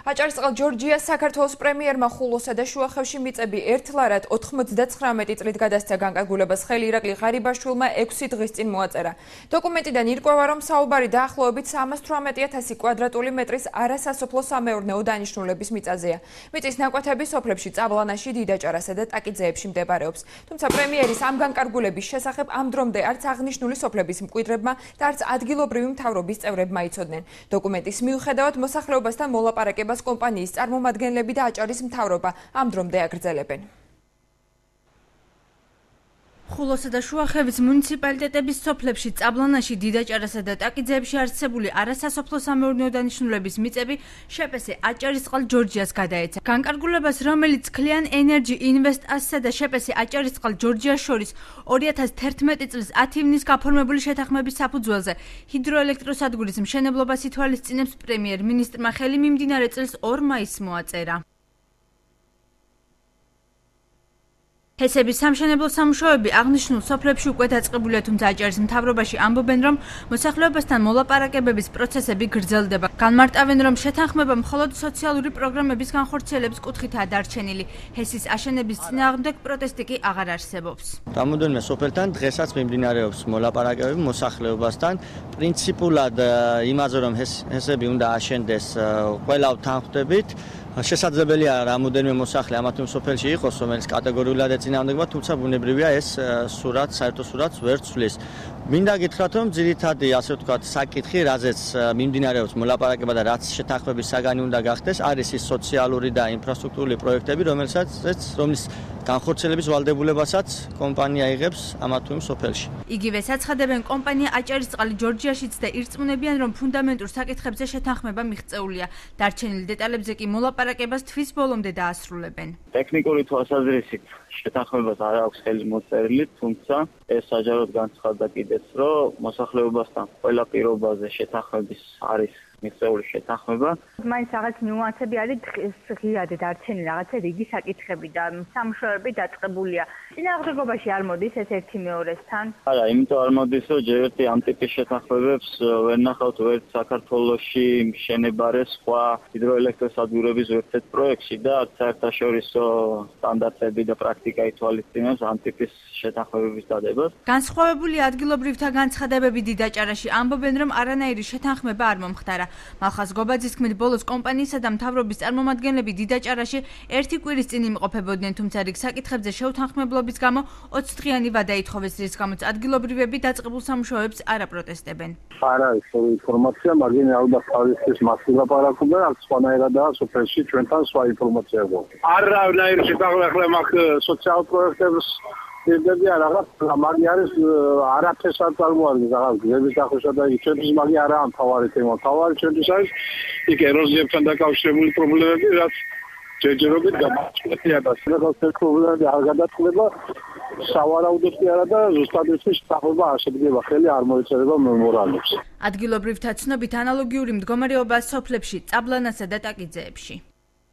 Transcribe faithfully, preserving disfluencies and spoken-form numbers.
აჭარისწყალ ჯორჯიას საქართველოს პრემიერმა ხულოსა და შუახევში მიწები ერთლარად ოთხმოცდაცხრამეტი წლით გადასცა განკარგულებას ხელი ირაკლი ღარიბაშვილმა ექვსი დღის წინ მოაწერა. დოკუმენტიდან ირკვევა, რომ საუბარი დაახლოებით სამას თვრამეტი ათასი კვადრატული მეტრის არასასოფლო სამეურნეო დანიშნულების მიწაზეა. მიწის ნაკვეთები სოფლებში წაბლანაში, დიდაჭარასა და ტაკიძეებში მდებარეობს. თუმცა პრემიერის ამ განკარგულების შესახებ ამ დრომდე არც აღნიშნული სოფლების მკვიდრებმა და არც ადგილობრივი მთავრობის წევრებმა იცოდნენ. დოკუმენტის მიუხედავად მოსახლეობასთან მოლაპარაკებას კომპანიის წარმომადგენლები და აჭარის მთავრობა ამ დრომდე აგრძელებენ. ხულოსა და შუახევის მუნიციპალიტეტების სოფლებში წაბლანაში, დიდაჭარასა და ტაკიძეებში არსებული არასასოფლო სამეურნეო დანიშნულების მიწები შეპესე აჭარისწყალ ჯორჯიას გადაეცა. განკარგულებას, რომელიც Clean Energy Invest AS-სა და შეპესე აჭარისწყალ ჯორჯიას შორის ორი ათას თერთმეტი წლის ათი ივნის გაფორმებული შეთანხმების საფუძველზე ჰიდროელექტროსადგურის მშენებლობას ითვალისწინებს პრემიერ-მინისტრმა ხელი მიმდინარე წლის ორ მაისს მოაწერა. ჰესების სამშენებლო სამუშაოები აღნიშნულ სოფლებში უკვე დაწყებულია, თუმცა აჭარის მთავრობაში ამბობენ, რომ მოსახლეობასთან მოლაპარაკებების პროცესები გრძელდება. განმარტავენ, რომ შეთანხმება მხოლოდ სოციალური პროგრამების განხორციელების კუთხითაა დარჩენილი. ჰესის აშენების წინააღმდეგ პროტესტი კი აღარ არსებობს. რამოდენიმე სოფელთან დღესაც მიმდინარეობს მოლაპარაკებები მოსახლეობასთან. პრინციპულად იმაზე, რომ ჰესები უნდა აშენდეს, ყველა ვთანხმდებით. შესაძლებელია რამოდენიმე მოსახლე ამა თუ იმ სოფელში იყოს, რომელიც კატეგორიულად ეწინააღმდეგება, თუმცა ბუნებრივია ეს სურათს, საერთო სურათს ვერ ცვლის. მინდა გითხრათ, რომ ძირითადი, ასე ვთქვათ, საკითხი, რაზეც მიმდინარეობს მოლაპარაკება და რაც შეთანხმების საგანი უნდა გახდეს, არის ის სოციალური და ინფრასტრუქტურული პროექტები, რომელსაც რომლის განხორციელების ვალდებულებასაც კომპანია იღებს ამა თუ იმ სოფელში. იგივე საცხადებენ კომპანია აჭარისწყალი ჯორჯიაშიც და ირწმუნებიან, რომ ფუნდამენტურ საკითხებზე შეთანხმება მიღწეულია. დარჩენილ დეტალებზე კი მოლაპარაკებას თვის ბოლომდე დაასრულებენ. ტექნიკური თვალსაზრისით შეთანხმებას არ აქვს ხელი მოწერილი, თუმცა ეს საჯაროდ განცხადდა კიდეც, რომ მოსახლეობასთან ყველა პირობაზე შეთანხმების არის მიღწეული შეთანხმება. მაინც რაღაც ნიუანსები არის ღიად დარჩენილი, რაღაცა რიგი საკითხები და სამუშაოები დაწყებულია. წინააღმდეგობაში არ მოდის ეს ერთი მეორესთან? არა, იმიტომ არ მოდის, რომ ჯერ ერთი ამ ტიპის შეთანხმებებს ვერ ნახავთ ვერც საქართველოში მშენებარე სხვა ჰიდროელექტროსადგურების ერთ-ერთ პროექტში და საერთაშორისო სტანდარტები და პრაქტიკა ითვალისწინებს ამ ტიპის შეთანხმებების დადებას. განსხვავებული ადგილობრივთა განცხადებები დიდაჭარაში ამბობენ, რომ არანაირი შეთანხმება არ მომხდარა. მალხაზ გობაძის თქმით, ბოლოს კომპანიისა და მთავრობის წარმომადგენლები დიდაჭარაში ერთი კვირის წინ იმყოფებოდნენ, თუმცა რიგ საკითხებზე შეუთანხმებლობის გამო ოცი დღიანი ვადა ითხოვეს, რის გამოც ადგილობრივები დაწყებულ სამუშაოებს არ აპროტესტებენ. არ არის ინფორმაცია, მაგრამ ალბათ თავისის მასში ლაპარაკობენ, აქ სხვანაირადაა სოფელში ჩვენთან სხვა ინფორმაცია გვაქვს. არანაირი შეთანხმება მაგ სოციალურ პროექტებს ძებები რაღაც მაგი არის არაფერს არ წარმოადგენს რაღაც გზების დახუშვა და ჩვენთვის მაგი არაა მთავარი თემა. მთავარი ჩვენთვის არის იქ ეროზიებთან დაკავშირებული პრობლემები, რაც ჯერჯერობით გამართულია და ეს პრობლემები არ გადაწყდება. სავარაუდოდ კი არა და ზუსტად ის შეთანხმება არ შედგება, ხელი არ მოეწერება მემორანდუმს. ადგილობრივთა ცნობით ანალოგიური მდგომარეობაა სოფლებში, წაბლანასა და ტაკიძეებში.